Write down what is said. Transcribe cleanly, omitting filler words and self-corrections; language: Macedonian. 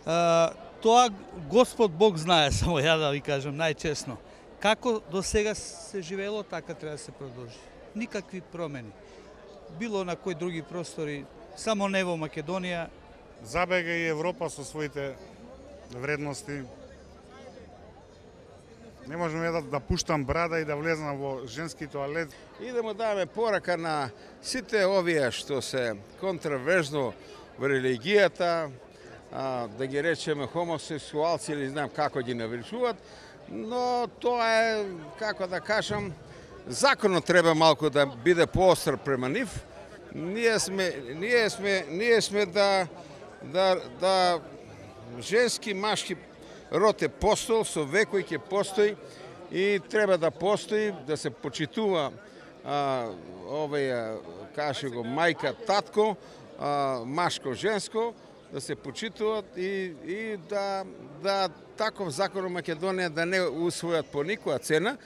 Тоа Господ Бог знае, само ја да ви кажам најчесно. Како до сега се живеело, така треба да се продолжи. Никакви промени. Било на кои други простори, само не во Македонија. Забега и Европа со своите вредности. Не можам да пуштам брада и да влезам во женски тоалет. И да му даваме порака на сите овие што се контраверзно во религијата, да ги речеме хомосексуалци или знам како ги навричуваат, но тоа е, како да кажам, законот треба малку да биде поостар према нив. Ние сме да женски, машки род е постол, со векој ќе постои и треба да постои, да се почитува каже го мајка, татко, машко, женско, да се почитуваат и да таков закон во Македонија да не усвојат по никоја цена.